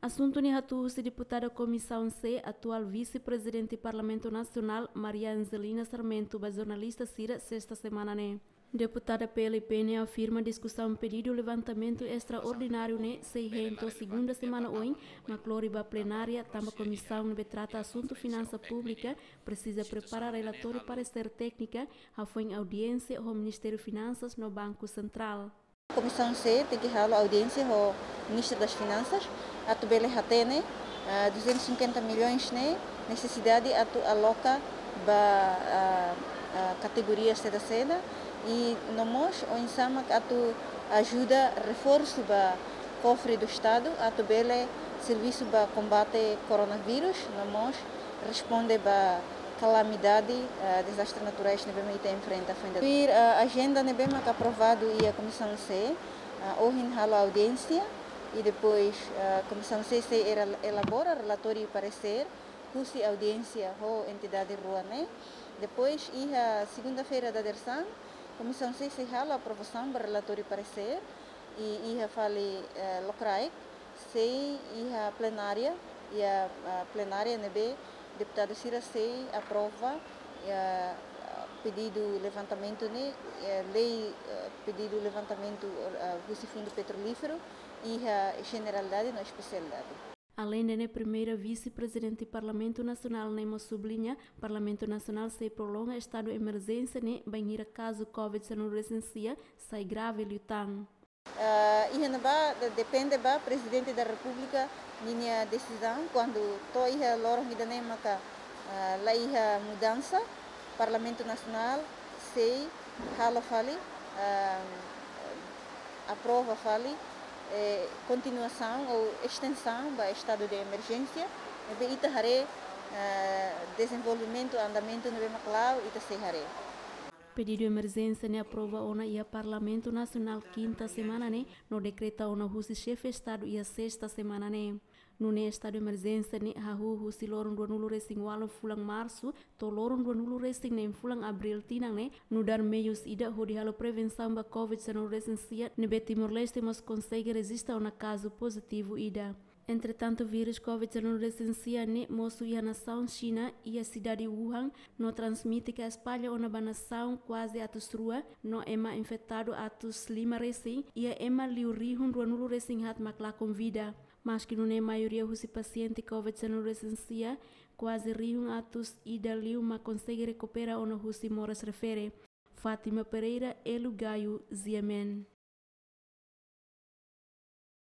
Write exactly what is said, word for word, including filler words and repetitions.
Asuntu ne'e hato'o husi deputada Komisaun C, atuál Vise-Prezidente Parlamentu Nasionál, Maria Angelina Sarmento, ba jornalista sira sesta semana ne'e. Deputada P L P ne'e afirma diskusaun pedidu levantamentu estraordináriu ne'e sei hein to'o segunda semana oin, mak lori ba plenária, tanba komisaun ne'ebé trata asuntu finansa públika presiza prepara relatóriu paresér téknika, hafoin audiénsia ho Ministériu Finansas no Banku Sentrál. Komisaun C tenke halo audiénsia ho Ministru das Finansas, atu bele hatene, ah, duzentos e cinquenta milhões ne'e nesesidade atu aloka ba, ah, ah, kategoria seda-seda, i no mós oinsá mak atu ajuda reforsu ba kofre do Estadu, atu bele servisu ba kombate koronavírus, no mós responde ba kalamidade, ah, dezastre naturais ne'ebé mak ita enfrenta foin dadauk. Tuir, ah, ajenda ne'ebé mak aprovadu iha Komisaun C, ah, ohin halo audiénsia, i depois, ah, Komisaun C sei era-, elabora relatóriu paresér husi audiénsia ho entidade rua ne'e. Depois, iha segunda-feira dadeer-saan, Komisaun C sei halo aprovasaun ba relatóriu paresér, i iha fali, eh, lokraik, sei iha plenária, iha, ah, plenária ne'ebé deputadu sira sei aprova, ah, pedidu levantamentu ne'e, eh, lei, eh, pedidu levantamentu, eh, husi Fundu Petrolíferu, iha jeneralidade no espesialidade. Aleinde ne'e, Primeira Vise-Prezidente Parlamentu Nasionál ne'e mós subliña, Parlamentu Nasionál sei prolonga estadu emerjénsia ne'e bainhira kazu COVID-19 sai grave liután. Ah, iha ne'ebá de-, depende ba Prezidente da Repúblika ninia desizaun, kuandu to'o iha loron ida-ne'e maka, ah, la iha mudansa, Parlamentu Nasionál sei halo fali, ah, aprova fali, eh, kontinuasaun ou estensaun ba estadu de emerjénsia, ne'ebé ita haree, eh, dezenvolvimentu, andamentu ne'ebé mak la'o, ita sei haree. Pedidu emerjénsia ne'e aprova ona iha Parlamentu Nasionál kinta semana ne'e, no dekreta ona husi Xefe Estadu iha sesta semana ne'e. Nune'e estadu emerjénsia ne'e hahú husi loron ruanulu-resin-ualu fulan Marsu to'o loron ruanulu-resin-neen fulan Abríl tinan ne'e, nu'udar meius ida hodi halo prevensaun ba COVID-19 ne'ebé Timor-Leste mós konsege rejista ona kazu pozitivu ida. Entretantu, vírus COVID-19 ne'e mosu iha nasaun Xina, iha sidade Wuhan, no transmite ka espalla ona ba nasaun kuaze atus rua, no ema infetadu atus lima resin, iha ema liu rihun ruanulu-resin-haat mak lakon vida. Maski nune'e, maioria husi pasiente COVID-19 kuaze rihun atus ida liu mak konsege rekupera ona husi moras refere. Fátima Pereira, Elu Gayo, G M N.